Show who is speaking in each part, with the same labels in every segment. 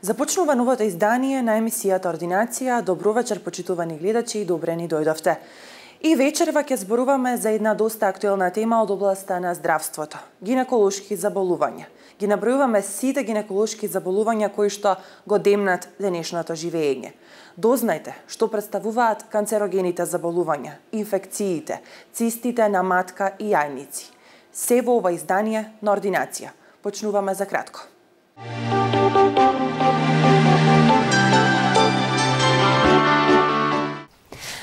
Speaker 1: Започнува новото издание на емисијата Ординација. Добро вечер, почитувани гледачи, и добре ни дојдовте. И вечерва ќе зборуваме за една доста актуелна тема од областа на здравството – гинеколошки заболувања. Ги набројуваме сите гинеколошки заболувања кои што го демнат денешното живење. Дознајте што представуваат канцерогените заболувања, инфекциите, цистите на матка и јајници. Се во ова издание на Ординација. Почнуваме за кратко.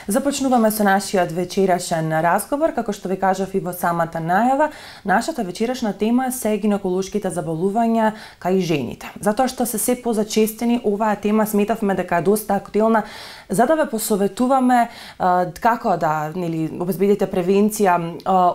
Speaker 1: Започнуваме со нашиот вечерашен разговор. Како што ви кажав и во самата најава, нашата вечерашна тема се гинеколошките заболувања кај жените. Затоа што се позачестени, оваа тема сметавме дека е доста актуелна, за да ве посоветуваме како да обезбедите превенција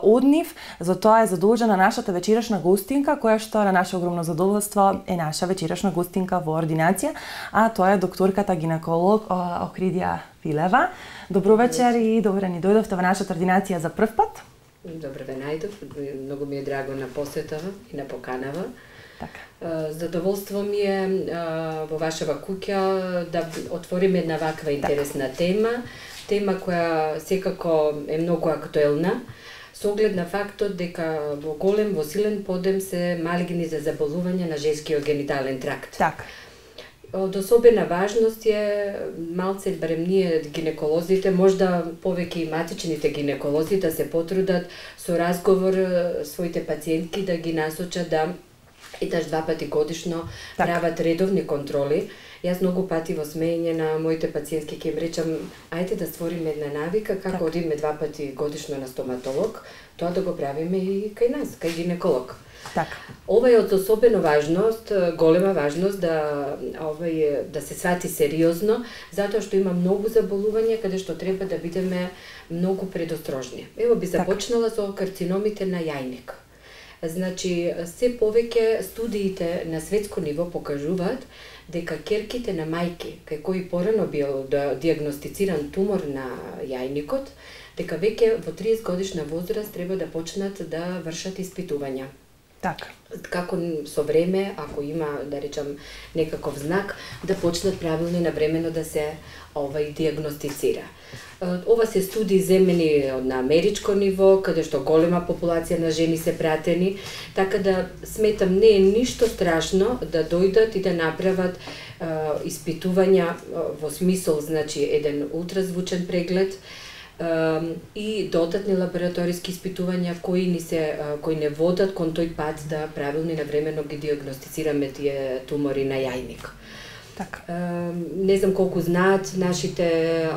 Speaker 1: од нив. Затоа е задолжена нашата вечерашна гостинка, која што на наше огромно задоволство е наша вечерашна гостинка во Ординација, а тоа е докторката гинеколог Охридија Филева. Добро вечер и добре ни дојдовте во нашата Ординација за прв пат.
Speaker 2: Добре ве најдов, многу ми е драго на посетава и на поканава.
Speaker 1: Така.
Speaker 2: Задоволство ми е во вашава куќа да отвориме една ваква интересна тема која секако е многу актуелна, со оглед на фактот дека во голем, во силен подем се малигни за заболување на женскиот генитален тракт.
Speaker 1: Така.
Speaker 2: Од особена важност е малце, барем ние гинеколозите, можда повеќе и матичните гинеколози да се потрудат со разговор своите пациентки да ги насочат да еднаш два пати годишно прават редовни контроли. Јас многу пати во смеење на моите пациентки ќе им речам, ајде да створиме една навика како одиме два пати годишно на стоматолог, тоа да го правиме и кај нас, кај гинеколог.
Speaker 1: Така.
Speaker 2: Ова е од особено важност, голема важност да се свати сериозно, затоа што има многу заболувања каде што треба да бидеме многу предострожни. Ево би започнала со карциномите на јајник. Значи, се повеќе студиите на светско ниво покажуваат дека ќерките на мајки, кај кои порано бил диагностициран тумор на јајникот, дека веќе во 30 годишна возраст треба да почнат да вршат испитувања.
Speaker 1: Така.
Speaker 2: Како со време, ако има, да речам, некаков знак, да почнат правилно и навремено да се диагностицира. Ова се студии земени на америчко ниво, каде што голема популација на жени се пратени, така да сметам не е ништо страшно да дојдат и да направат испитувања во смисол, значи, еден ултразвучен преглед, и додатни лабораториски испитувања кои не водат кон тој пат да правилно и навремено ги диагностицираме тие тумори на јајник.
Speaker 1: Така.
Speaker 2: Не знам колку знаат нашите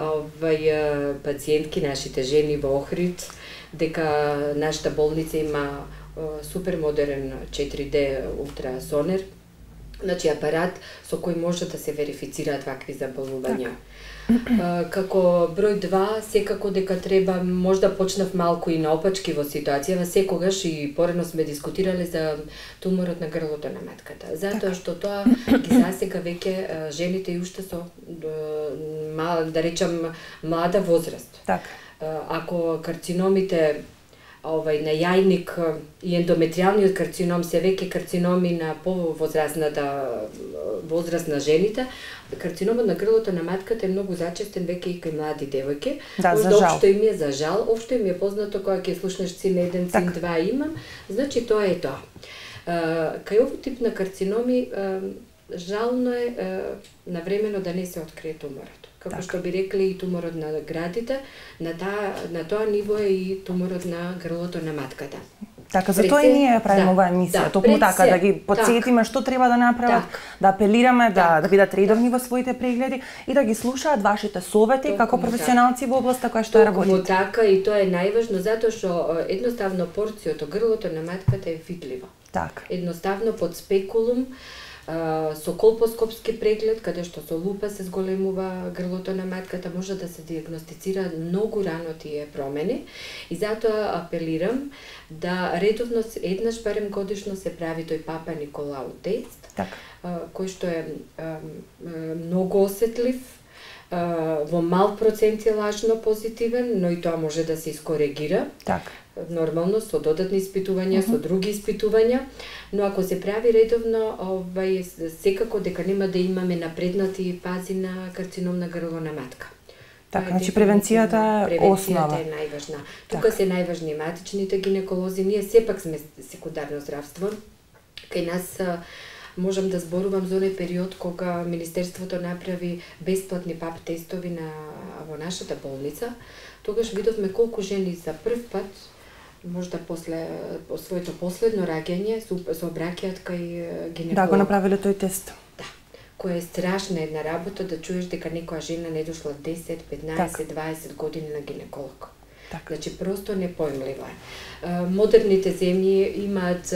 Speaker 2: пациентки, нашите жени во Охрид, дека нашата болница има супер модерен 4D ултрасонер, значи апарат со кој може да се верифицираат вакви заболувања. Како број 2, секако дека треба, можда почнав малку и наопачки во ситуацијава, секогаш и порано сме дискутирале за туморот на грлото на матката. Затоа што тоа ги засега веќе жените и уште со, да речам, млада возраст.
Speaker 1: Така.
Speaker 2: Ако карциномите на јајник и ендометриалниот карцином се веќе карциноми на возраст на жените, карциномот на грлото на матката е многу зачестен веќе и кај млади девојки.
Speaker 1: Да, за жал.
Speaker 2: Општо им е за жал, општо им е познато кога ќе слушнеш цин 1, цин 2 имам, значи тоа е тоа. Кај овој тип на карциноми жално е навремено да не се открие туморот. Како што би рекли и туморот на градите, на тоа ниво е и туморот на грлото на матката.
Speaker 1: Така, затоа и ние правиме оваа емисија, токму така, да ги потсетиме што треба да направат, да апелираме да бидат редовни во своите прегледи и да ги слушаат вашите совети како професионалци во областа која што работите.
Speaker 2: Токму така, и тоа е најважно затоа што едноставно порцијата грлото на матката е видлива.
Speaker 1: Така.
Speaker 2: Едноставно под спекулум Со колпоскопски преглед, каде што со лупа се зголемува грлото на матката, може да се диагностицира многу рано тие промени и затоа апелирам да редовно еднаш барем годишно се прави тој Папа Николау тест, кој што е многу осетлив, во мал процент е лажно позитивен, но и тоа може да се искоригира. Нормално со додатни испитувања, со други испитувања, но ако се прави редовно, секако дека нема да имаме напреднати фази на карцином на грло на матка.
Speaker 1: Значи превенцијата е основа.
Speaker 2: Превенцијата е најважна. Тука се најважни матичните гинеколози, ние сепак сме секундарно здравство. Кај нас можам да зборувам за оној период кога Министерството направи бесплатни ПАП тестови во нашата болница. Тогаш видовме колку жени за прв пат, можда после своето последно раѓање, се обраќаат кај гинеколог.
Speaker 1: Да, го направиле тој тест.
Speaker 2: Да, која е страшна една работа да чуеш дека некоја жена не дошла 10, 15, 20 години на гинеколог. Значи, просто непоимливо е. Модерните земји имаат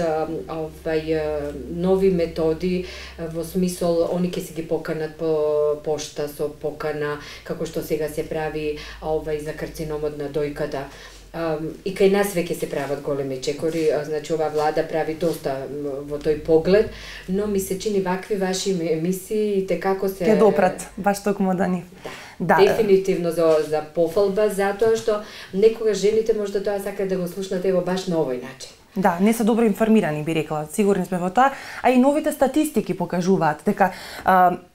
Speaker 2: нови методи, во смисол, они ќе се ги поканат по пошта со покана, како што сега се прави за карциномот на дојката. И кај нас веќе се прават големи чекори, значи ова влада прави доста во тој поглед, но ми се чини вакви ваши емисии и како се...
Speaker 1: Ке допрат, баш токму да ни...
Speaker 2: Да. Дефинитивно за пофалба, затоа што некогаш жените можда тоа сакаат да го слушнат ево баш на овој начин.
Speaker 1: Да, не се добро информирани, би рекла, сигурни сме во тоа, а и новите статистики покажуваат дека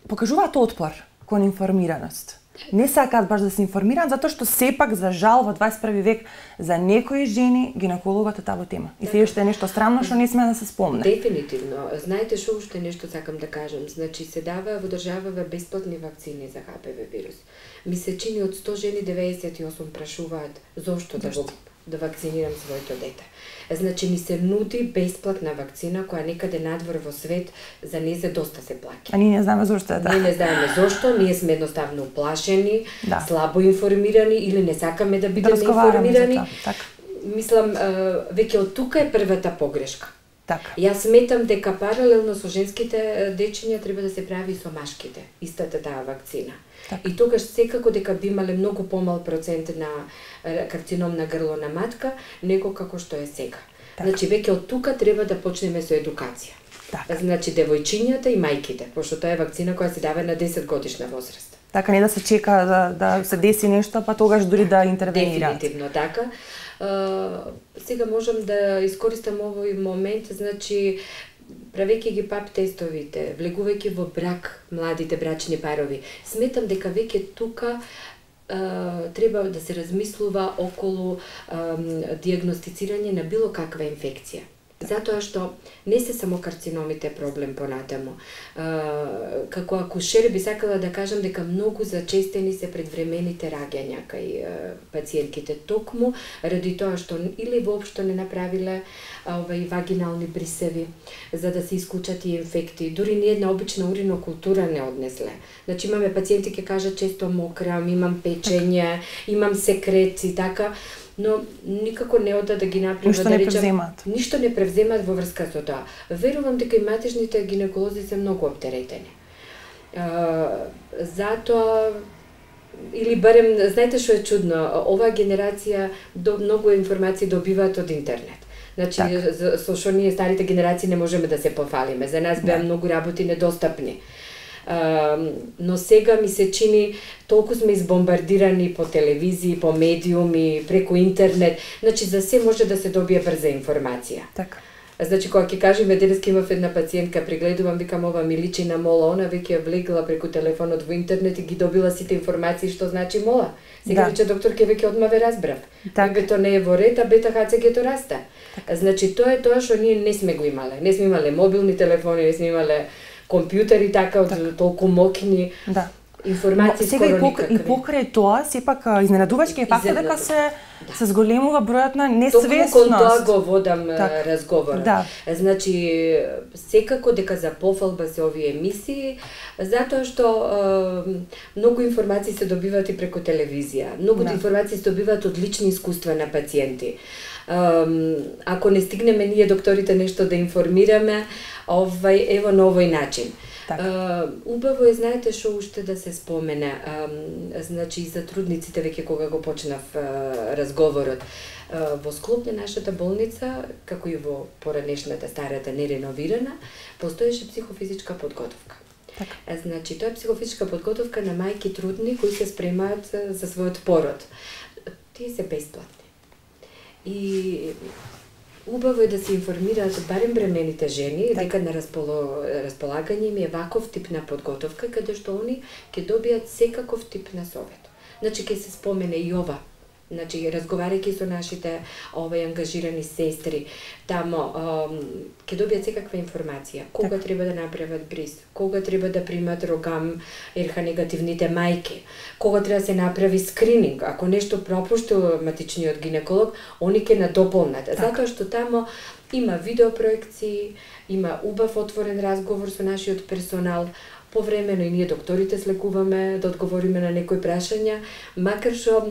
Speaker 1: покажуваат отпор кон информираност. Не сакаат баш да се информираат, затоа што сепак, за жал, во 21 век за некои жени гинекологот е табу тема. И се уште е нешто странно што не сме да се спомне.
Speaker 2: Дефинитивно. Знаете што уште нешто сакам да кажам. Значи се дава во државава бесплатни вакцини за HPV вирус. Ми се чини од 100 жени 98 прашуваат зошто да вакцинирам своето дете. Значи ни се нуди бесплатна вакцина која некаде надвор во свет за незе доста се плаќа.
Speaker 1: А ние не знаеме зошто е така.
Speaker 2: Ние не знаеме зошто, ние сме едноставно уплашени, слабо информирани или не сакаме да бидеме информирани. Мислам, веќе од тука е првата погрешка. Јас сметам дека паралелно со женските дечиња треба да се прави со машките, истата таа вакцина. И тогаш секако дека би имале многу помал процент на карцином на грло на матка, него како што е сега. Значи веќе од тука треба да почнеме со едукација. Значи девојчињата и мајките, пошто тоа е вакцина која се дава на 10 годишна возраст.
Speaker 1: Така, не да се чека да се деси нешто, па тогаш дури да интервенираат.
Speaker 2: Дефинитивно така. Сега можам да искористам овој момент, значи правејќи ги ПАП тестовите, влегувајќи во брак младите брачни парови, сметам дека веќе тука треба да се размислува околу диагностицирање на било каква инфекција. Затоа што не се само карциномите проблем понатаму. Како акушер би сакала да кажам дека многу зачестени се предвремените раѓања кај пациентките, токму ради тоа што или воопшто не направиле вагинални брисеви за да се исклучат и инфекти. Дури ни една обична уринокултура не однесле. Значи имаме пациенти ке кажат често мокрам, имам печење, имам секрет и така, но никако не ода да ги направат,
Speaker 1: ништо не превземаат.
Speaker 2: Ништо не превземаат во врска со тоа. Верувам дека и матичните гинеколози се многу оптеретени. Затоа или барем, знаете што е чудно, оваа генерација многу информации добиваат од интернет. Значи, со што ние старите генерации не можеме да се пофалиме. За нас беа многу работи недостапни. Но сега ми се чини толку сме избомбардирани по телевизии, по медиуми, преку интернет, значи за се може да се добие брза информација.
Speaker 1: Така.
Speaker 2: Значи кога ќе кажеме денеска имав една пациентка, прегледувам, викам ова ми личи на мола, она веќе влегла преку телефонот во интернет и ги добила сите информации што значи мола. Сега рече докторке веќе одма ве разбрав. Бебето не е во ред, а бета ХЦГ-то расте. Значи тоа е тоа што ние не сме го имале. Не сме имале мобилни телефони, не сме имале компјутери така од толку моќни. Информации
Speaker 1: сега
Speaker 2: скоро никакви.
Speaker 1: И покрај тоа, сепак изненадувачки е фактот дека се зголемува бројот на несвесност.
Speaker 2: Токму кон тоа го водам разговорот.
Speaker 1: Да.
Speaker 2: Значи, секако дека за пофалба се овие емисии, затоа што многу информации се добиваат и преку телевизија. Многу информации се добиваат од лични искуства на пациенти. Ако не стигнеме ние докторите нешто да информираме, ево на овој начин. Убаво е, знаете што уште да се спомене, значи и за трудниците веќе кога го почнав разговорот. Во склоп на нашата болница, како и во поранешната старата нереновирана, постоеше психофизичка подготовка. Значи, тоа е психофизичка подготовка на мајки трудни кои се спремаат за својот пород. Тие се бесплатни. И убаво е да се информираат барем бремените жени дека на располагање им е ваков тип на подготовка каде што они ќе добијат секаков тип на совет. Значи ќе се спомене и ова. Значи разговарајќи со нашите ангажирани сестри, тамо ќе добијат секаква информација. Кога треба да направат бриз, кога треба да примат рогам РХ негативните мајки, кога треба да се направи скрининг, ако нешто пропушти матичниот гинеколог, они ќе надополнат. Затоа што тамо има видеопроекции, има убав отворен разговор со нашиот персонал. Повремено и ние докторите слекуваме да одговориме на некои прашања, макар што,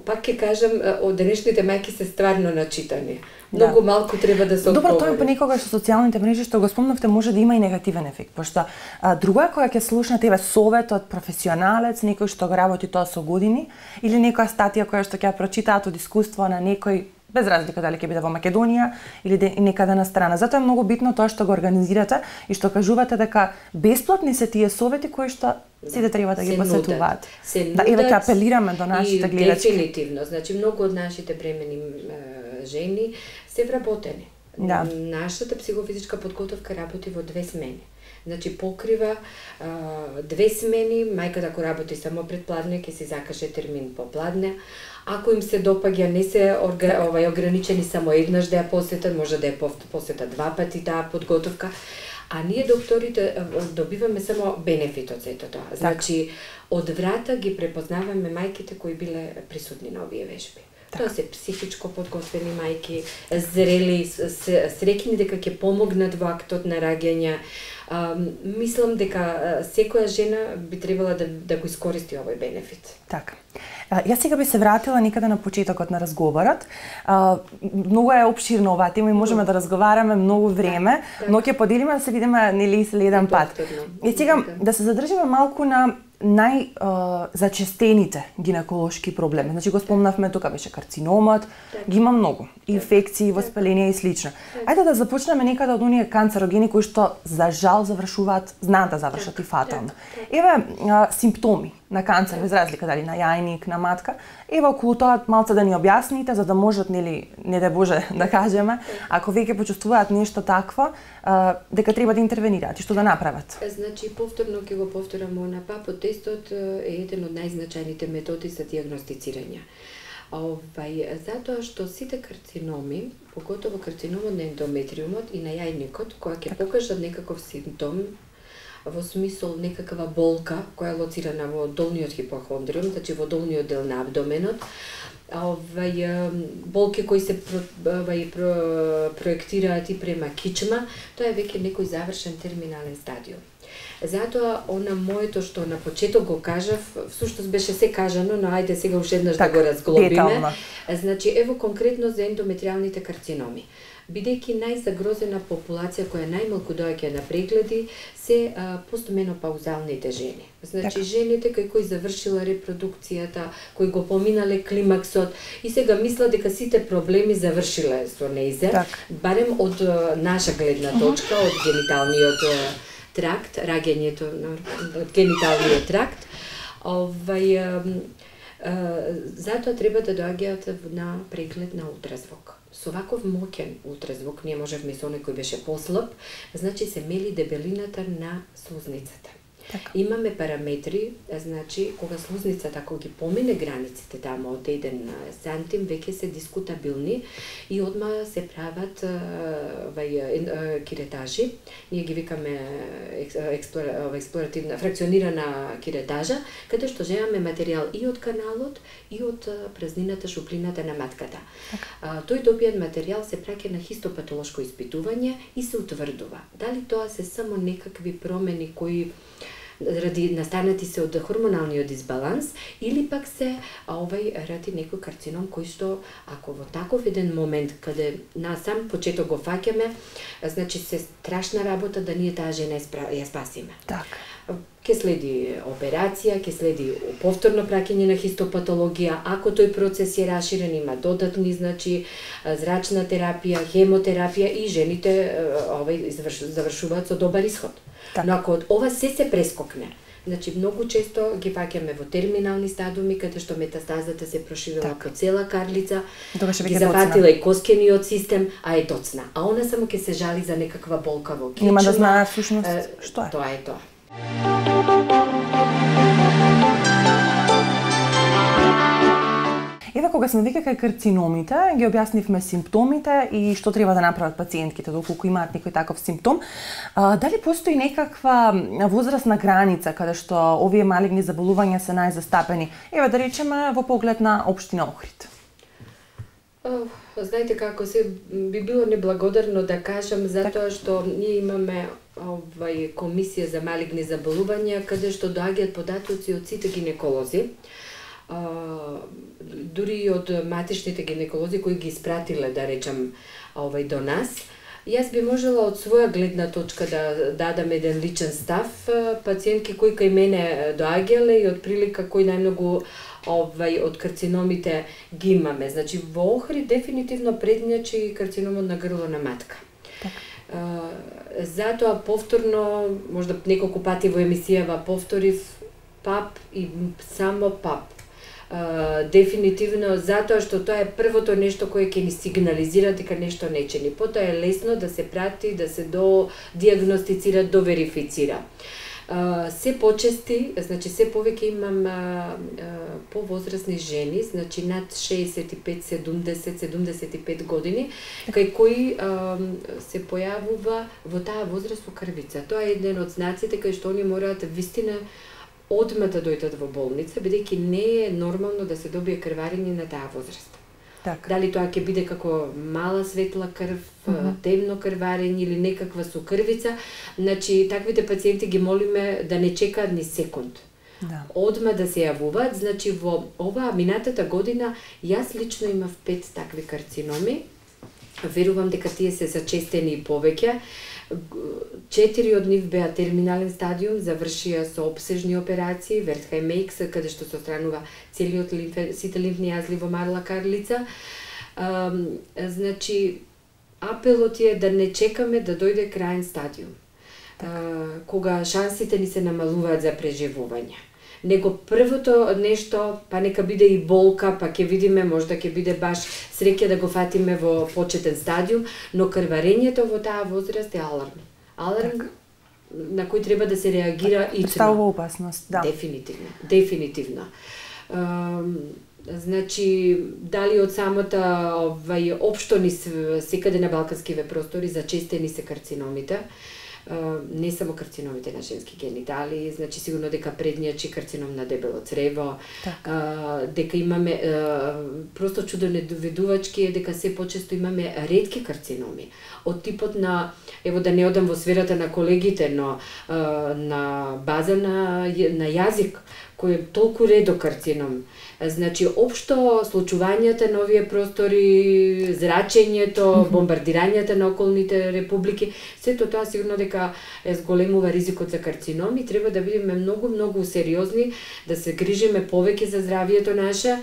Speaker 2: пак ќе кажам, од денешните мајки се стварно начитани. Многу малку треба да се одговори.
Speaker 1: Добро, тоа понекогаш со социјалните мрежи што го спомнавте може да има и негативен ефект, пошто друго е кога ќе слушнете совет од професионалец, некој што го работи тоа со години, или некоја статија која што ќе прочитаат од искуство на некој, без разлика дали ќе биде во Македонија или некаде на страна. Затоа е многу битно тоа што го организирате и што кажувате дека бесплатни се тие совети кои што сите треба да ги посетуваат. Да, еве ќе апелираме до нашите гледачки.
Speaker 2: Дефинитивно, значи многу од нашите бремени жени се вработени. Нашата психофизичка подготовка работи во 2 смени. Значи покрива 2 смени, мајката ако работи само пред пладне, ќе си закаже термин по пладне. Ако им се допаѓа, не се ограничени само еднаш да ја посетат, може да ја посетат 2 пати таа подготовка. А ние докторите добиваме само бенефит од сето тоа. Значи, од врата ги препознаваме мајките кои биле присутни на овие вежби. Тоа се психичко подготвени мајки, зрели, среќни дека ќе помогнат во актот на раѓање. Мислам дека секоја жена би требала да го искористи овој бенефит.
Speaker 1: Така. Јас сега би се вратила некаде на почетокот на разговорот. Многу е опширна оваа тема и можеме да разговараме многу време, но ќе поделиме да се видиме нели еден пат. И сега да се задржиме малку на најзачестените гинеколошки проблеми. Значи го спомнавме тука беше карциномот, ги има многу, инфекции, воспаление и слично. Ајде да започнеме некаде од оние канцерогени кои што за жал знаат да завршат и фатално. Еве симптоми на канцер, без разлика дали на јајник, на матка. Еве околу тоа малце да ни објасните за да можат нели не да Боже да кажеме, ако веќе почувствуваат нешто такво, дека треба да интервенираат и што да направат.
Speaker 2: Значи повторно ќе го повторам она ПАПО тестот е еден од најзначајните методи за дијагностицирање. Затоа што сите карциноми, поготово карциномот на ендометриумот и на јајникот, кога ќе покажат некаков симптом, во смисол некаква болка која е лоцирана во долниот хипохондриум, значи во долниот дел на абдоменот, болки кои се проектираат и према кичма, тоа е веќе некој завршен терминален стадиум. Затоа, моето што на почеток го кажав, всушност беше се кажано, но ајде сега уште еднаш да го разглобиме. Значи, ево конкретно за ендометриалните карциноми. Бидејќи најзагрозена популација која најмалку доаѓа на прегледи се постменопаузалните жени. Значи жените кои завршила репродукцијата, кои го поминале климаксот и сега мислат дека сите проблеми завршиле со нејзе, барем од наша гледна точка, од гениталниот тракт, раѓањето од гениталниот тракт. Затоа треба да доаѓаат на преглед на ултразвук. Со ваков моќен ултразвук, ние можевме со некој беше послаб, значи се мели дебелината на слузницата.
Speaker 1: Така.
Speaker 2: Имаме параметри, значи кога слузницата ако ги помине границите тamo од 1 сантим, веќе се дискутабилни и одма се прават киретажи. Ние ги викаме експлоративна фракционирана киретажа, каде што земаме материјал и од каналот и од празнината, шуплината на матката. Тој добиен материјал се праќа на хистопатолошко испитување и се утврдува. Дали тоа се само некакви промени кои ради настанати се од хормоналниот дисбаланс или пак се ради некој карцином кој што ако во таков еден момент каде на сам почеток го фаќаме, значи се страшна работа да ние таа жена ја спасиме.
Speaker 1: Така.
Speaker 2: Ке следи операција, ке следи повторно праќање на хистопатологија, ако тој процес е раширен, има додатни, значи зрачна терапија, хемотерапија и жените завршуваат со добар ишод. Но ако ова се прескокне, значи многу често ги фаќаме во терминални стадиуми каде што метастазата се проширила по цела карлица, ги зафатила и коскениот систем, а е доцна. А она само ќе се жали за некаква болка во кичма.
Speaker 1: Нема да знае всушност што е.
Speaker 2: Тоа е тоа.
Speaker 1: Еве кога сме веќе кај карциномите, ги објаснивме симптомите и што треба да направат пациентките доколку имаат некој таков симптом. Дали постои некаква возрастна граница каде што овие малигни заболувања се најзастапени? Еве да речеме во поглед на општина Охрид.
Speaker 2: Знаете како се би било неблагодарно да кажам затоа што ние имаме комисија за малигни заболувања каде што доаѓаат податоци од сите гинеколози. Дури и од матичните гинеколози кои ги испратиле, да речам, до нас. Јас би можела од своја гледна точка да дадам еден личен став. Пациентки кои кај мене доаѓале и од прилика кои најмногу од карциномите ги имаме. Значи во Охрид дефинитивно предњачи карциномот на грло на матка. Затоа повторно, можда неколку пати во емисијава повторив ПАП и само ПАП. Дефинитивно затоа што тоа е првото нешто кое ќе ни сигнализира дека нешто не чини. Потоа е лесно да се прати, да се диагностицира, верифицира. Се почести, значи се повеќе имам повозрастни жени, значи над 65, 70, 75 години, кај кои се појавува во таа возраст крвица. Тоа е еден од знаците кај што они мораат вистина одма да дојдат во болница, бидејќи не е нормално да се добие крварење на таа возраст. Дали тоа ќе биде како мала светла крв, темно крварење или некаква сокрвица, значи таквите пациенти ги молиме да не чекаат ни секунд. Одма да се јавуваат, значи во оваа минатата година јас лично имав 5 такви карциноми. Верувам дека тие се зачестени и повеќе. 4 од нив беа терминален стадиум, завршија со обсежни операции, Вертхајм-Мейкс, каде што се отстранува целиот сите лимфни јазли во марла карлица. Значи, апелот е да не чекаме да дојде крајен стадиум, кога шансите ни се намалуваат за преживување. Него првото нешто, па нека биде и болка, па ќе видиме, можда ќе биде баш среќа да го фатиме во почетен стадиум, но крварењето во таа возраст е аларм. Аларм на кој треба да се реагира итно.
Speaker 1: Представува опасност, да.
Speaker 2: Дефинитивно. Значи, дали од самата општо ни секаде на балканскиве простори зачестени се карциномите, не само карциномите на женски генитали, значи сигурно дека предњачи карцином на дебело црево, дека имаме просто чудонедоведувачки е дека се почесто имаме ретки карциноми од типот на, ево да не одам во сферата на колегите, но на база на јазик кој е толку редок карцином. Значи, општо случувањата на овие простори, зрачењето, бомбардирањата на околните републики, сето тоа сигурно дека зголемува ризикот за карцином и треба да бидеме многу сериозни, да се грижиме повеќе за здравието наше,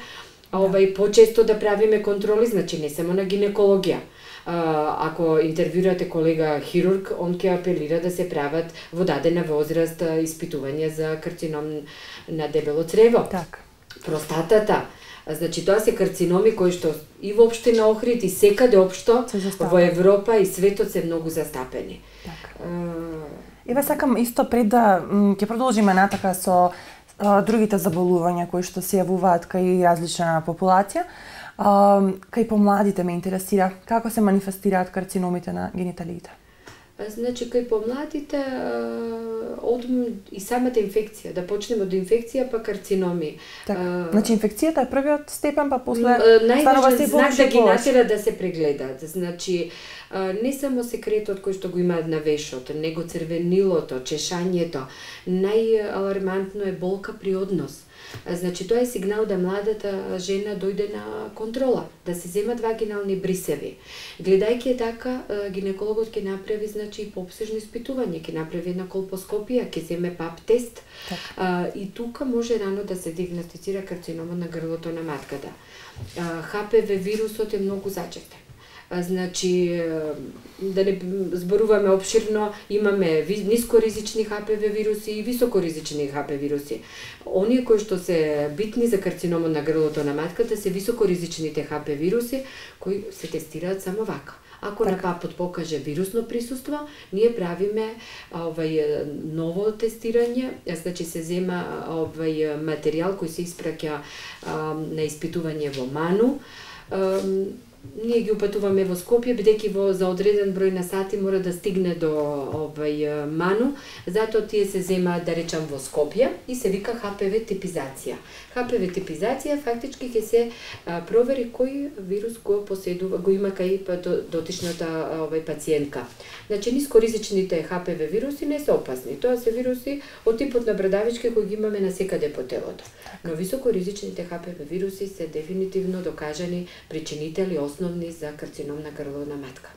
Speaker 2: почесто да правиме контроли, значи не само на гинекологија. Ако интервјурате колега хирург, он ќе апелира да се прават во дадена возраст испитувања за карцином на дебело црево. Простатата. Значи тоа се карциноми кои што и во општина Охрид и секаде општо во Европа и светот се многу застапени.
Speaker 1: Еве сакам исто пред да ќе продолжиме натака со другите заболувања кои што се јавуваат кај различна популација. Кај помладите ме интересира како се манифестираат карциномите на гениталиите.
Speaker 2: Значи, кај помладите, и самата инфекција, да почнеме од инфекција, па карциноми.
Speaker 1: Така, значи инфекцијата е првиот степен, па после
Speaker 2: станува се знак да ги натера да се прегледаат. Значи, не само секретот кој што го имаат на вешот, него црвенилото, чешањето, најалармантно е болка при однос. Значи, тоа е сигнал да младата жена дојде на контрола, да се земат вагинални брисеви. Гледајќи така, гинекологот ќе направи, значи, пообсежно испитување, ќе направи една колпоскопија, ќе земе пап тест, и тука може рано да се диагностицира карцинома на грлото на матката. ХПВ вирусот е многу зачестен. Значи, да не зборуваме обширно, имаме нискоризични ХПВ вируси и високоризични ХПВ вируси. Оние кои што се битни за карциномот на грлото на матката се високоризичните ХПВ вируси кои се тестираат само вака. Ако на папот покаже вирусно присуство, ние правиме ново тестирање, значи се зема материјал кој се испраќа на испитување во Ману. Ние ги упатуваме во Скопје, бидејќи за одреден број на сати мора да стигне до Ману, затоа тие се земаат, да речам, во Скопје и се вика ХПВ типизација. ХПВ типизација фактички ќе се провери кој вирус го поседува, го има кај дотичната пациентка. Значи, нискоризичните ХПВ вируси не се опасни. Тоа се вируси од типот на брадавички кои ги имаме насекаде по телото. Но високоризичните ХПВ вируси се дефинитивно докажани причинители основни за карцином на грло на матка.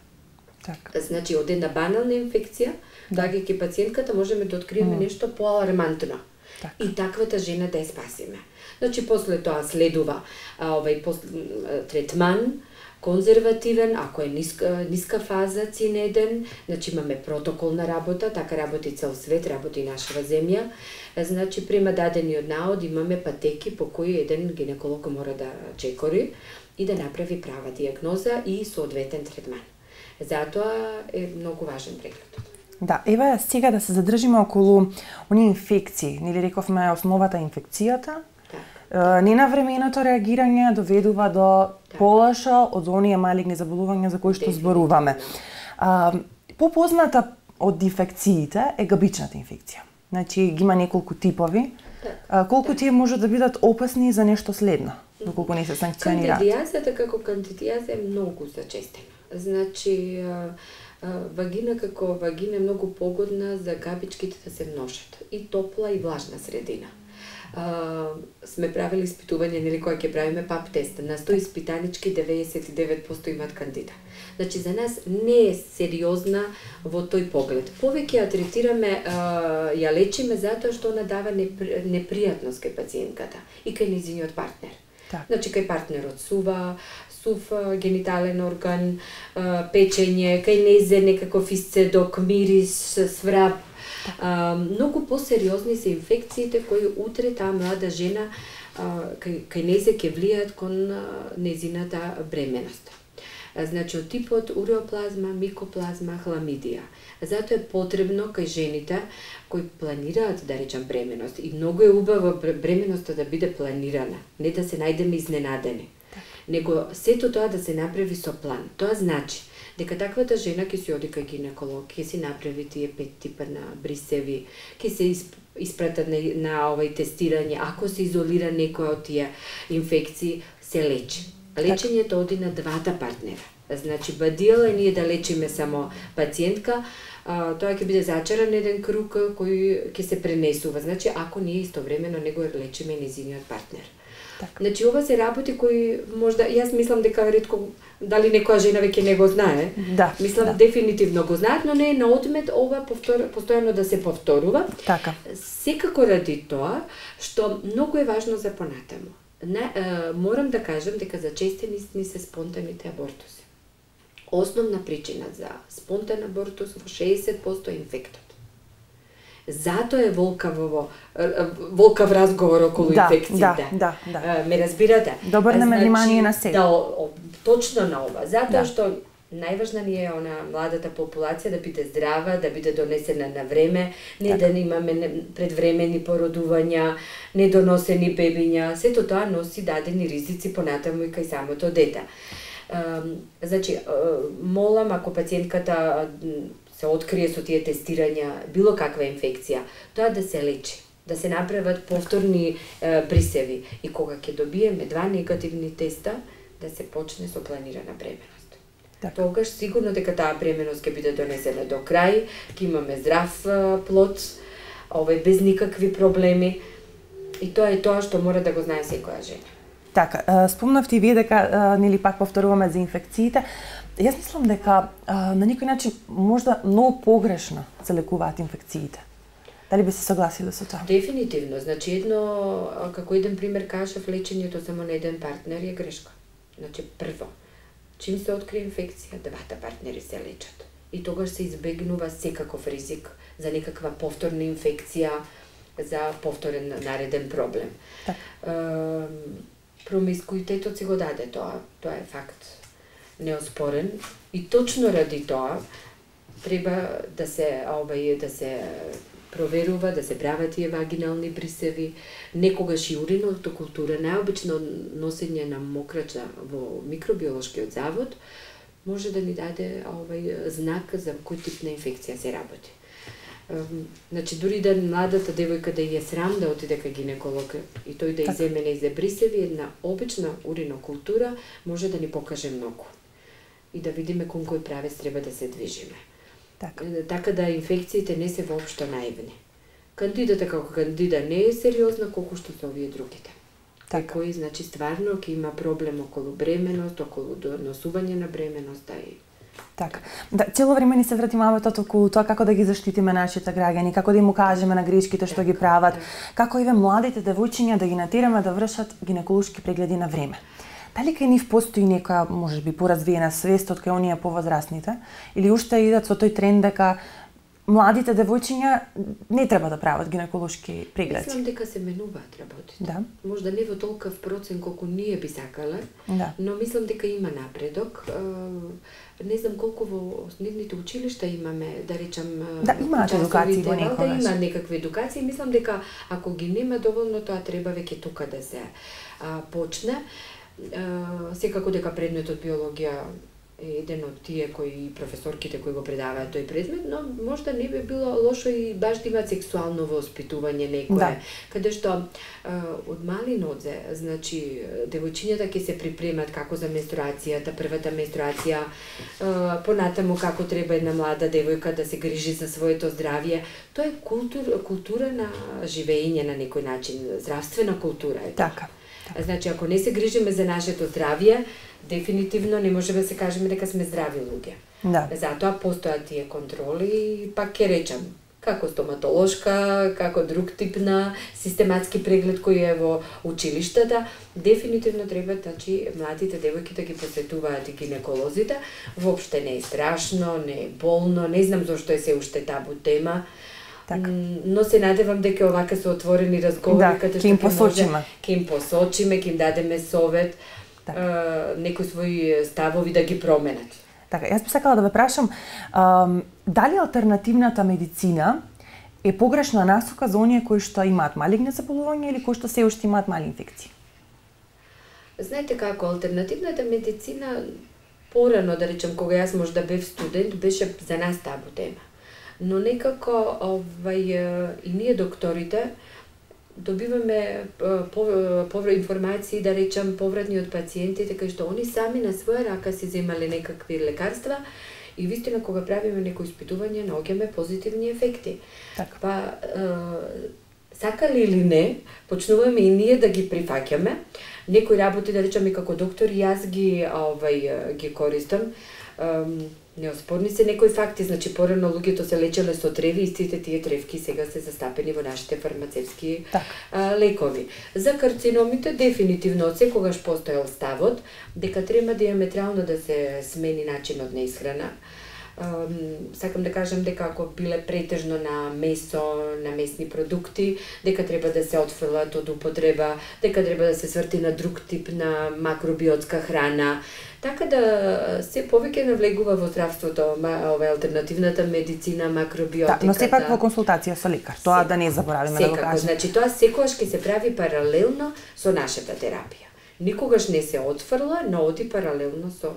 Speaker 1: Так.
Speaker 2: Значи, од една банална инфекција, доаѓајќи пациентката, можеме да откриеме нешто поалармантно.
Speaker 1: Так.
Speaker 2: И таквата жена да ја спасиме. Значи, после тоа следува третман, конзервативен, ако е ниска фаза, цинеден, значи имаме протоколна работа, така работи цел свет, работи нашава земја. Значи, према дадениот наод имаме патеки по кои еден гинеколог мора да чекори и да направи права диагноза и соодветен третман. Затоа е многу важен прегледот.
Speaker 1: Да, еве сега да се задржиме околу оние инфекции. Нели рековме основата инфекцијата. Ненавременото реагирање доведува до полоша од оние малигни заболувања за кои што зборуваме. Попозната од инфекциите е габичната инфекција. Значи, ги има неколку типови. Колку тие може да бидат опасни за нешто следно, доколку не се санкционираат?
Speaker 2: Кандидијазата како кандидијаза е многу зачестена. Значи, вагина како вагина е многу погодна за габичките да се множат. И топла и влажна средина. Сме правили испитување, нели, кога ќе правиме пап тест. На 100 испитанички 99% имаат кандида. Значи, за нас не е сериозна во тој поглед. Повеќе ја третираме, ја лечиме затоа што она дава непријатност кај пациентката и кај нејзиниот партнер.
Speaker 1: Так.
Speaker 2: Значи, кај партнерот сув генитален орган, печење, кај нејзе некаков исцедок, мирис, сврап. Многу посериозни се инфекциите кои утре таа млада жена кај нејзе ќе влијаат кон нејзината бременост. Значи, од типот уреоплазма, микоплазма, хламидија. Затоа е потребно кај жените кои планираат, да речам, бременост, и многу е убаво бременоста да биде планирана, не да се најдеме изненадени, него сето тоа да се направи со план. Тоа значи дека таквата жена ќе си оди кај гинеколог, ќе си направи тие 5 типа на брисеви, ќе се испратат на тестирање, ако се изолира некоја од тие инфекции, се лечи. Лечењето оди на двата партнера. Значи, бадијал е ние да лечиме само пациентка, тоа ќе биде зачаран еден круг кој ќе се пренесува. Значи, ако ние истовремено него лечиме нејзиниот партнер.
Speaker 1: Так.
Speaker 2: Значи, ова се работи кои можда, јас мислам дека ретко, дали некоја жена веќе не го знае.
Speaker 1: Да.
Speaker 2: Мислам дефинитивно го знаат, но не е на одмет ова постојано да се повторува.
Speaker 1: Така.
Speaker 2: Секако ради тоа што многу е важно за понатаму. Морам да кажам дека зачестени се спонтаните абортуси. Основна причина за спонтан абортус во 60% е инфектот. Затоа е волкав разговор околу инфекциите.
Speaker 1: Да.
Speaker 2: Ме разбирате?
Speaker 1: Добрнеме внимание на сега.
Speaker 2: Точно на ова. Затоа што Најважна ни е младата популација да биде здрава, да биде донесена на време, не да имаме предвремени породувања, недоносени бебиња. Сето тоа носи дадени ризици понатаму и кај самото дете. Значи, молам, ако пациентката се открие со тие тестирања било каква инфекција, тоа да се лечи, да се направат повторни брисеви и кога ќе добиеме 2 негативни теста, да се почне со планирана бременност. Тогаш сигурно дека таа бременност ќе биде донесена до крај, ќе имаме здрав плод, без никакви проблеми. И тоа е тоа што мора да го знае секоја жена.
Speaker 1: Така, спомнавте и вие дека нели пак повторуваме за инфекциите. Јас мислам дека на некој начин можда многу погрешно се лекуваат инфекциите. Дали би се согласиле со тоа?
Speaker 2: Дефинитивно. Значи како еден пример кажав, лечењето само на еден партнер е грешка. Значи прво, чим се открие инфекција, двата партнери се лечат. И тогаш се избегнува секаков ризик за некаква повторна инфекција, за повторен нареден проблем. Промискуитетот си го даде тоа е факт неоспорен и точно ради тоа треба да се проверува, да се прават тие вагинални брисеви, некогаш и урината култура, најобично носење на мокрача во микробиолошкиот завод може да ни даде знак за кој тип на инфекција се работи. Значи, дури да младата девојка да ја срам да отиде кај гинеколог и тој да иземе нејзе брисеви, една обична уринокултура може да ни покаже многу и да видиме кон кој правец треба да се движиме. Така да инфекциите не се воопшто наивни. Кандидата како кандида не е сериозна колку што се овие другите. Кој, значи, стварно ќе има проблем околу бременост, околу доносување на бременоста и
Speaker 1: така. Да, цело време ни се врати маметот околу тоа како да ги заштитиме нашите граѓани, како да им укажеме на грешките што ги прават, како и младите девојчиња да ги натераме да вршат гинеколошки прегледи на време. Дали кај нив постои некоја, можеби, поразвиена свест од кај оние повозрасните, или уште идат со тој тренд дека младите девојчиња не треба да прават гинеколошки прегледи?
Speaker 2: Мислам дека се менуваат работите.
Speaker 1: Да.
Speaker 2: Можда не во толков процент колку ние би сакале, но мислам дека има напредок. Не знам колку во основните училишта имаме, да речам,
Speaker 1: имаат едукации во некогаш.
Speaker 2: Има некакви едукации. Мислам дека ако ги нема доволно, тоа треба веќе тука да се почне. Секако дека предметот биологија е еден од тие кои професорките кои го предаваат тој предмет, но можда не би било лошо и баш да имаат сексуално воспитување некое, каде што од мали нозе, значи девојчињата ќе се припремат како за менструацијата, првата менструација, понатаму како треба една млада девојка да се грижи за своето здравје. Тоа е култура на живење на некој начин, здравствена култура е.
Speaker 1: Така.
Speaker 2: Значи, ако не се грижиме за нашето здравје, дефинитивно не можеме да се кажеме дека сме здрави луѓе. Затоа постојат тие контроли и пак ќе речам, како стоматолошка, како друг тип на систематски преглед кој е во училиштата, дефинитивно треба, значи, младите девојки да ги посетуваат и гинеколозите. Воопште не е страшно, не е болно, не знам зошто е се уште табу тема. Но се надевам дека овака се отворени разговори каде што ќе им посочиме, ќе им дадеме совет, некои своји ставови да ги променат.
Speaker 1: Така, јас би сакала да ве прашам, дали алтернативната медицина е погрешна насока за оние кои што имаат малигни заболувања или кои што се уште имаат мали инфекции?
Speaker 2: Знаете како, алтернативната медицина порано, да речем, кога јас можда бев студент, беше за нас табу тема. Но некако и ние докторите добиваме информации, да речам, повратни од пациентите, кај што они сами на своја рака си земале некакви лекарства и вистина кога правиме некои испитување наоѓаме позитивни ефекти. Па сакали или не, почнуваме и ние да ги прифаќаме. Некои работи, да речам, и како доктор јас ги користам. Неоспорни се некои факти, значи порано луѓето се лечеле со треви, истите тие тревки сега се застапени во нашите фармацевски лекови. За карциномите дефинитивно од секогаш постоел ставот дека треба диаметрално да се смени начинот на исхрана. Сакам да кажам дека ако биле претежно на месо, на месни продукти, дека треба да се отфрлат од употреба, дека треба да се сврти на друг тип на макробиотска храна. Така да се повеќе навлегува во здравството, ова алтернативната медицина, макробиотиката.
Speaker 1: Да, но сепак во консултација со лекар, тоа да не заборавиме да го кажеме.
Speaker 2: Значи тоа секогаш ќе се прави паралелно со нашата терапија. Никогаш не се отфрла, но оди паралелно со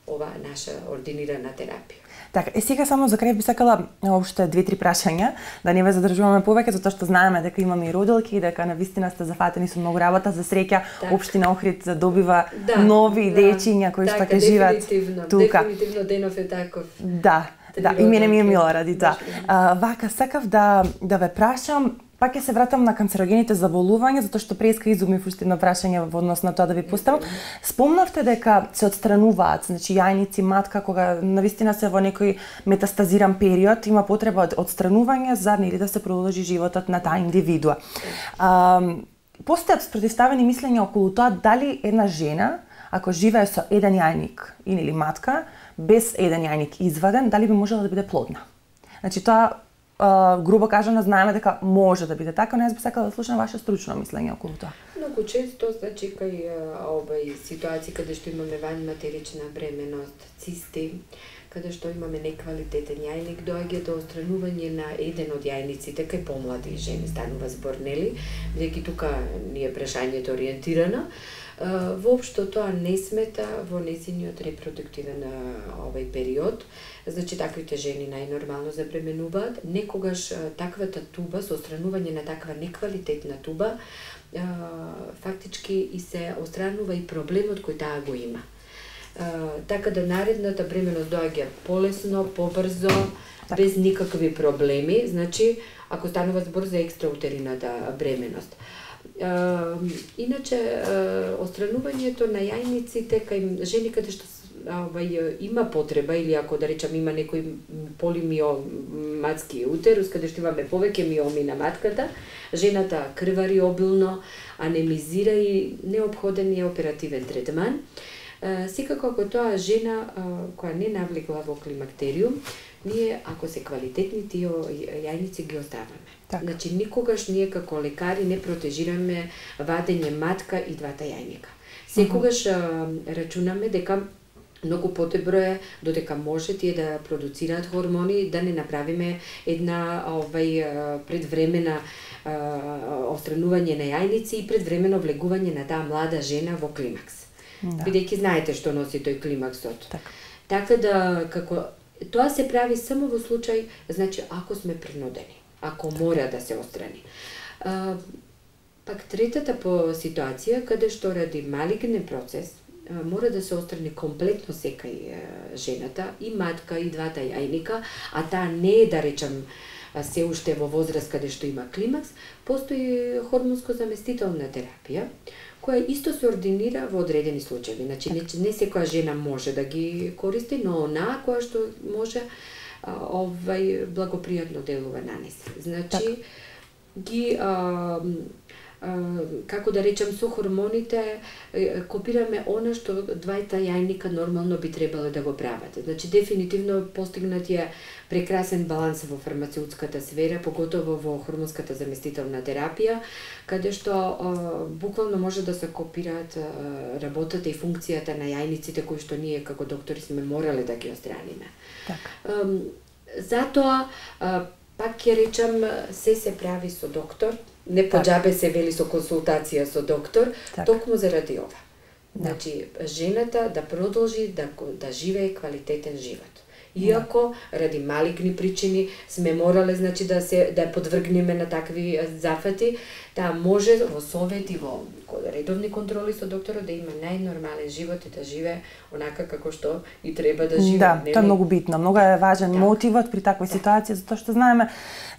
Speaker 2: ова наша ординирана терапија.
Speaker 1: Така, сега само за крај би сакала уште 2-3 прашања, да не ве задржуваме повеќе, затоа што знаеме дека имаме и родилки и дека навистина сте зафатени со многу работа. За среќа, општина Охрид добива нови дечиња кои што ќе живеат тука.
Speaker 2: Дефинитивно денов е таков.
Speaker 1: Да, и мене ми е мило ради тоа. Вака, сакав да ве прашам, пак ќе се вратам на канцерогените заболувања, затоа што преска изумив уште едно прашање во однос на тоа да ви поставам. Спомнавте дека се отстрануваат, значи јајници, матка, кога навистина се во некој метастазиран период, има потреба од отстранување за нели да се продолжи животот на таа индивидуа. Постојат спротивставени мислења околу тоа дали една жена, ако живее со еден јајник или матка, без еден јајник изваден, дали би можела да биде плодна. Значи тоа грубо кажано, знаеме дека може да биде така, но јас би сакала да слушам ваше стручно мислење околу тоа.
Speaker 2: Многу често, значи, кај овај ситуации каде што имаме ванматерична бременост, цисти, каде што имаме неквалитетен јајник, доаѓа до отстранување на еден од јајниците кај помлади жени, станува збор, нели? Бидејќи тука ни е прашањето ориентирано. Воопшто тоа не смета во нејзиниот репродуктивен овај период. Значи, таквите жени најнормално забременуваат. Некогаш таквата туба, со отстранување на таква неквалитетна туба, фактички и се отстранува и проблемот кој таа го има. Така да наредната бременост доаѓа полесно, побрзо, без никакви проблеми. Значи, ако станува збор за екстраутерината бременост. Иначе, отстранувањето на јајниците кај жени каде што има потреба, или ако да речам има некој полимиоматски утерус, каде што имаме повеќе миоми на матката, жената крвари обилно, анемизира и неопходен е оперативен третман. Секако ако тоа жена која не навлегла во климактериум, ние ако се квалитетни тие јајници ги оставаме.
Speaker 1: Так.
Speaker 2: Значи никогаш ние како лекари не протежираме вадење матка и двата јајника. Секогаш рачунаме дека многу подобро е додека може тие да продуцираат хормони, да не направиме една предвремена отстранување на јајници и предвремено влегување на таа млада жена во климакс. Да. Бидејќи знаете што носи тој климаксот. Така да како тоа се прави само во случај, значи ако сме принудени, ако мора да се отстрани. Пак третата по ситуација каде што ради малигнен процес мора да се отстрани комплетно секај жената, и матка и двата јајника, а таа не е, да речам, се уште во возраст каде што има климакс, постои хормонско заместителна терапија, која исто се ординира во одредени случаи. Значи, не секоја жена може да ги користи, но онаа која што може, благопријатно делува на неа. Значи, ги како да речем, со хормоните копираме она што двајта јајника нормално би требало да го прават. Значи, дефинитивно постигнат е прекрасен баланс во фармацеутската сфера, поготово во хормонската заместителна терапија, каде што буквално може да се копираат работата и функцијата на јајниците кои што ние како доктори сме морале да ги отстраниме. Затоа, пак ќе речам, се прави со доктор, не поџабе се вели со консултација со доктор, токму заради ова. Значи, жената да продолжи да живее квалитетен живот. Иако ради малигни причини сме морале, значи, да ја подвргнеме на такви зафати, таа може во совет и во редовни контроли со докторот да има најнормален живот и да живее онака како што и треба да живее.
Speaker 1: Да, тоа е многу битно. Многу е важен мотивот при таква ситуација, затоа што знаеме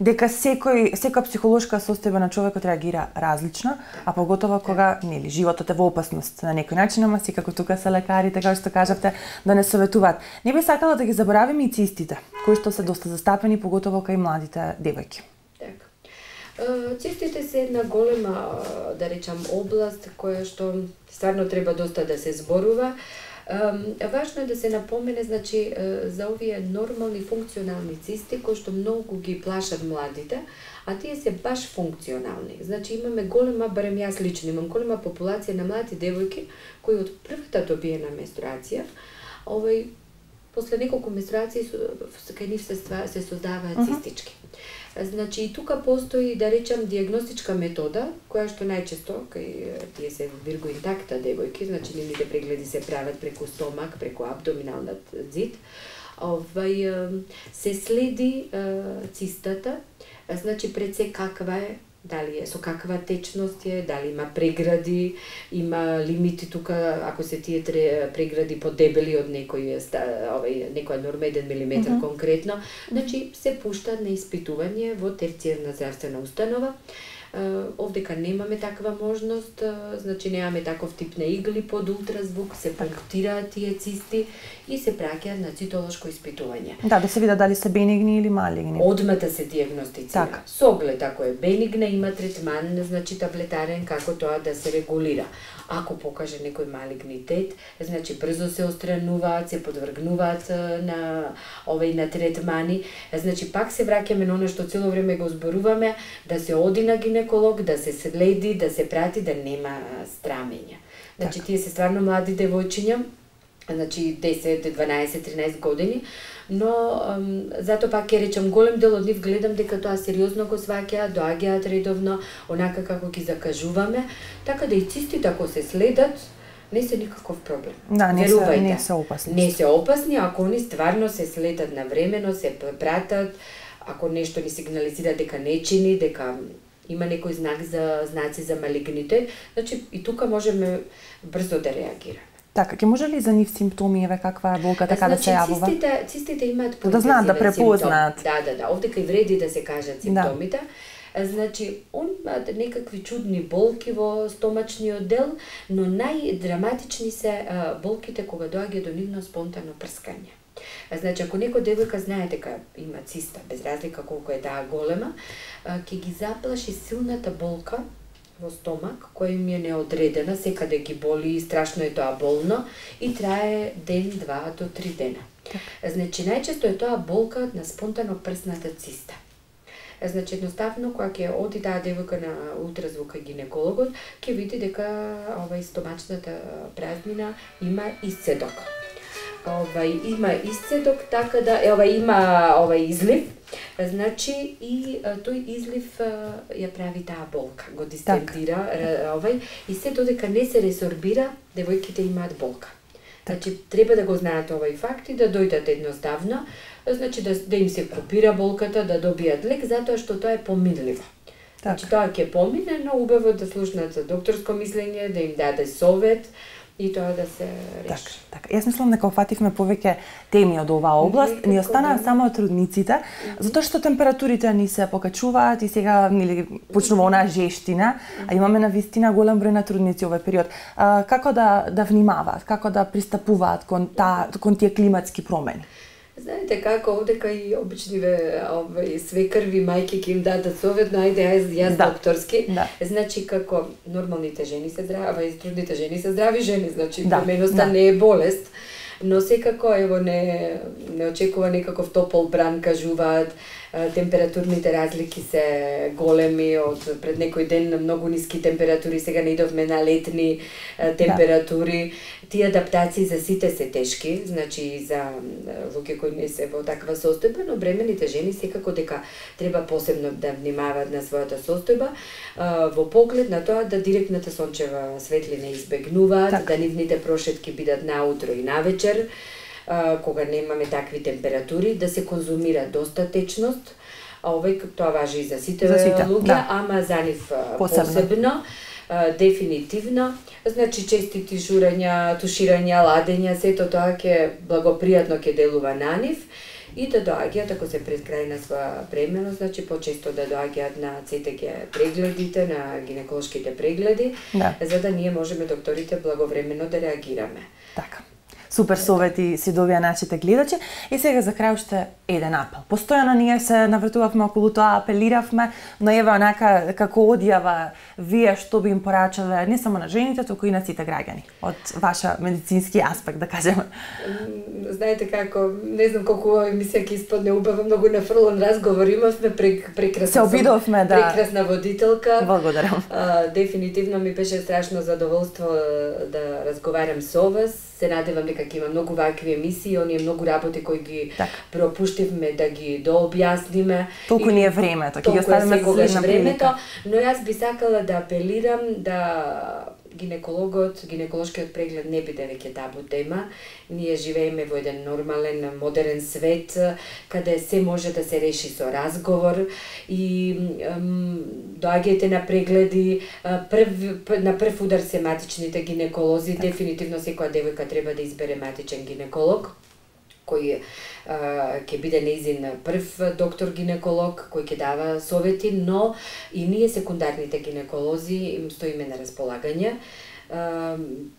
Speaker 1: дека секоја психолошка состојба на човекот реагира различно, а поготово кога нели животот е во опасност на некој начин, ама секако тука се лекарите, како што кажавте, да не советуваат. Не би сакала да ги заборавиме и цистите, кои што се доста застапени, поготово кај младите девојки.
Speaker 2: Цистите се една голема, да речам, област која што стварно треба доста да се зборува. Важно е да се напомене, значи, за овие нормални функционални цисти, кои што многу ги плашат младите, а тие се баш функционални. Значи, имаме голема, барем јас лично, имам голема популација на млади девојки, кои од првата добиена менструација, после неколку менструации кај нив се создаваат цистички. Значи, и тука постои, да речам, диагностичка метода, која што најчесто, кај тие се вирго интакта девојки, значи нивните прегледи се прават преку стомак, преку абдоминалниот зид, се следи цистата, значи пред се каква е, дали е со каква течност е, дали има прегради, има лимити тука, ако се тие прегради подебели од некоја норма 1 милиметар конкретно, значи се пуштат на испитување во терцијарна здравствена установа. Овдека немаме таква можност, значи немаме таков тип на игли под ултразвук, се пунктираат тие цисти и се праќаат на цитолошко испитување.
Speaker 1: Да се видат дали се бенигни или малигни.
Speaker 2: Одмата се диагностицира. Со оглед, ако е бенигна, има третман, значи таблетарен, како тоа да се регулира. Ако покаже некој малигнитет, значи брзо се отстрануваат, се подвргнуваат на третмани. Значи пак се враќаме на оно што цело време го зборуваме, да се оди на гинеколог, да се следи, да се прати, да нема страмења. Значи тие се стварно млади девојчиња, значи 10, 12, 13 години, но затоа пак ќе речам, голем дел од нив гледам дека тоа сериозно го сваќаат, доаѓаат редовно, онака како ги закажуваме, така да и цистите ако се следат, не се никаков проблем.
Speaker 1: Да, не се опасни.
Speaker 2: Не се опасни, ако они стварно се следат навремено, се пратат, ако нешто ни сигнализира дека не чини, дека има некој знаци за малигнитет, значи и тука можеме брзо да реагираме.
Speaker 1: Така, ќе може ли за нив симптоми, каква е болка, така да се јавува?
Speaker 2: Цистите имаат
Speaker 1: да знаат, да препознаат.
Speaker 2: Да, овдека и вреди да се кажат симптомите. Значи, он имаат некакви чудни болки во стомачниот дел, но најдраматични се болките кога доаѓа до нивно спонтано прскање. Значи, ако некој девојка знае дека има циста, без разлика колку е таа голема, ќе ги заплаши силната болка во стомак, која им е неодредена, секаде ги боли, страшно е тоа болно и трае ден, 2 до 3 дена. Значи, најчесто е тоа болка на спонтано прсната циста. Значи, едноставно, кога ќе оди таа девојка на ултразвук кај гинекологот, ќе види дека стомачната празнина има исцедок. Има исцедок, така да има излив, значи и тој излив ја прави таа болка, го дистендира, и се додека не се ресорбира, девојките имаат болка. Значи, треба да го знаат овој факт и да дојдат едноставно, значи да им се купира болката, да добијат лек, затоа што тоа е поминливо. Значи, тоа ќе помине, но убаво да слушнат за докторско мислење, да им даде совет, и тоа да се реши.
Speaker 1: Така. Јас мислам дека опфативме повеќе теми од оваа област, ни останаа само трудниците, затоа што температурите ни се покачуваат и сега почнува онаа жештина, а имаме навистина голем број на трудници овој период. Како да внимаваат, како да пристапуваат кон тие климатски промени?
Speaker 2: Знаете како, овдека и обичниве свекрви, мајки ќе им дадат совет, но ајде јас докторски. Значи како нормалните жени се здрави, и трудните жени се здрави жени, значи бременоста не е болест, но секако не очекува некаков топол бран, кажуваат, температурните разлики се големи, од пред некој ден многу ниски температури, сега не идовме на летни температури. Тие адаптации за сите се тешки, значи за луѓе кои не се во таква состојба, но бремените жени секако дека треба посебно да внимаваат на својата состојба, во поглед на тоа да директната сончева светлина избегнуваат, да нивните прошетки бидат наутро и навечер, кога немаме такви температури, да се конзумира доста течност, тоа важи и за сите луѓе, ама за нив посебно. Дефинитивно, значи честити журења, туширања, ладења, сето тоа благопријатно ќе делува на нив и да доаѓаат, ако се пред крај на своја бременост, значи почесто да доаѓаат на ЦТГ прегледите, на гинеколошките прегледи, за да ние можеме докторите благовремено да реагираме.
Speaker 1: Така. супер совети си добија нашите гледачи. И сега за крај уште еден апел. Постојано ние се навртувавме околу тоа, апелиравме, но ева онака како одјава вие што би им порачале не само на жените, туку и на сите граѓани од ваша медицински аспект, да кажеме.
Speaker 2: Знаете како, не знам колку ова емисија ќе испадне убава, многу нафрлан разговор имавме, прекрасна.
Speaker 1: Се обидовме, да.
Speaker 2: Прекрасна водителка.
Speaker 1: Благодарам.
Speaker 2: Дефинитивно ми беше страшно задоволство да разговарам со вас. Се надевам дека ќе има многу вакви емисии, оние многу работи кои ги пропуштивме да ги дообјасниме.
Speaker 1: Толку ни е времето, ќе ги оставиме за следна прилика.
Speaker 2: Но јас би сакала да апелирам да гинеколошкиот преглед не биде веќе табу тема. Ние живееме во еден нормален, модерен свет, каде се може да се реши со разговор и доаѓајте на прегледи, на прв удар се матичните гинеколози, дефинитивно секоја девојка треба да избере матичен гинеколог, кој ќе биде нејзин прв доктор-гинеколог, кој ќе дава совети, но и ние секундарните гинеколози им стоиме на располагање.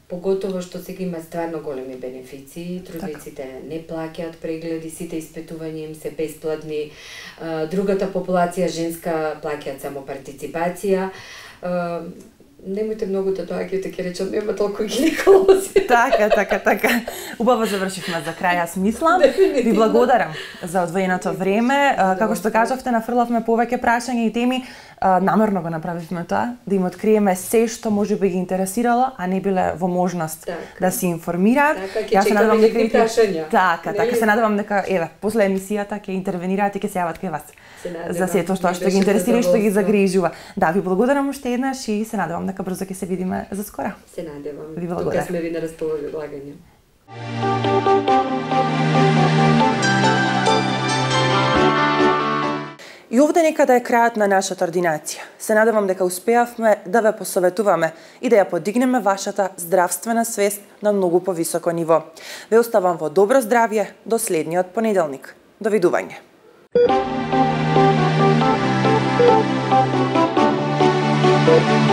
Speaker 2: Поготово што сега има стварно големи бенефиции, трудниците не плаќаат прегледи, сите испитувања им се бесплатни, другата популација женска плаќаат само партиципација. Немојте многу да доаѓате, ќе речам, нема толку гинеколози.
Speaker 1: Така. Убаво завршивме за крај, јас мислам. Ви благодарам за одвоеното време. Како што кажавте, нафрлавме повеќе прашања и теми. Намерно го направивме тоа, да им откриеме се што може би ги интересирало, а не биле во можност да се информираат.
Speaker 2: Јас се надевам дека прашања.
Speaker 1: Така, се надевам дека еве, после емисијата ќе интервенираат и ќе се јават кај вас. За сето што ги интересира и што ги загрижува. Да, ви благодарам уште еднаш и се надевам дека брзо ќе се видиме за скоро.
Speaker 2: Се надевам.
Speaker 1: Ви благодарам.
Speaker 2: Тука сме ви на располагање.
Speaker 1: И овде некаде е крајот на нашата ординација. Се надевам дека успеавме да ве посоветуваме и да ја подигнеме вашата здравствена свест на многу повисоко ниво. Ве оставам во добро здравје до следниот понеделник. Довидување. Thank you.